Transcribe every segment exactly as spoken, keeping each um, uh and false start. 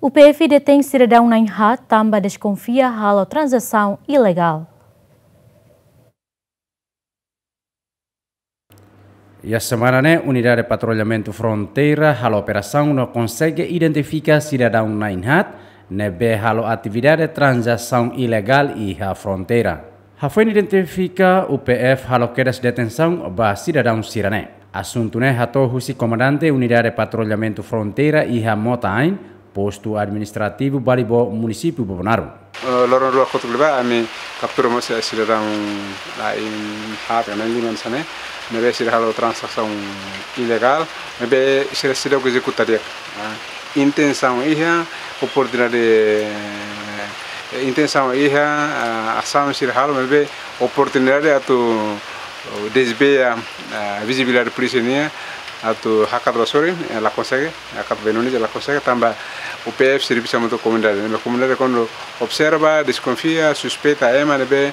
U P F detein sidadaun na'in-haat tanba deskonfia halo tranzasaun ilegál. Iha semana ne'e, Unidade Patrullamentu Fronteira halo operasaun no konsege identifika sidadaun na'in-haat ne'ebé halo atividade tranzasaun ilegál iha fronteira. Hafoin identifika, U P F halo kedas detensaun ba sidadaun sira-ne'e. Asuntu ne'e hato'o husi Komandante Unidade Patrullamentu Fronteira iha Mota-Ain, Postu Administrativu Balibó, Munisípiu Bobonaro. Eh, loron rua kotuk liubá, ami kaptura mós sidadaun na'in-haat ka na'in-lima hanesan ne'e, ne'ebé sira halo tranzasaun ilegál, ne'ebé sira seidauk ezekuta di'ak. Ah, intensaun iha, oportunidade, eh, intensaun iha, ah, asaun sira halo, maibé oportunidade atu, oh, desvia, ah, vizibilidade polísia nian, atu hakat ba sorin, eh, la konsege, hakat ba Indonézia la konsege, tanba U P F servisu hamutuk ho komunidade. Ne'ebé komunidade kuandu observa, deskonfia, suspeita ema ne'ebé,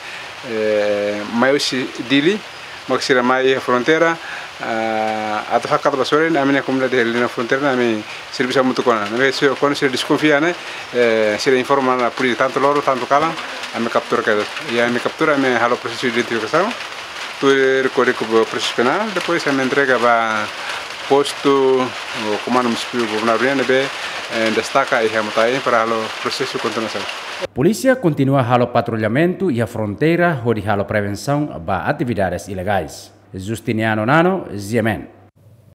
eh, mai husi Dili, mak sira mai iha fronteira, ah, atu hakat ba sorin, ami-nia komunidade iha liña fronteira ne'e ami servisu hamutuk ona. Ne'ebé sira, kuandu sira deskonfia ne'e, eh, sira informa ona polísia tantu loron, tantu kalan, ami kaptura kedas. I ami kaptura, ami halo prosesu identifikasaun, tuir Kódigu Prosesu Penál, depois ami entrega ba postu, oh, Komandu Munisípiu Bobonaro nian ne'ebé, eh, destaka iha Mota-Ain para halo prosesu kontinuasaun. Polísia kontinua halo patrullamentu iha fronteira hodi halo prevensaun ba atividades ilegais. Justiniano Nano, G M N.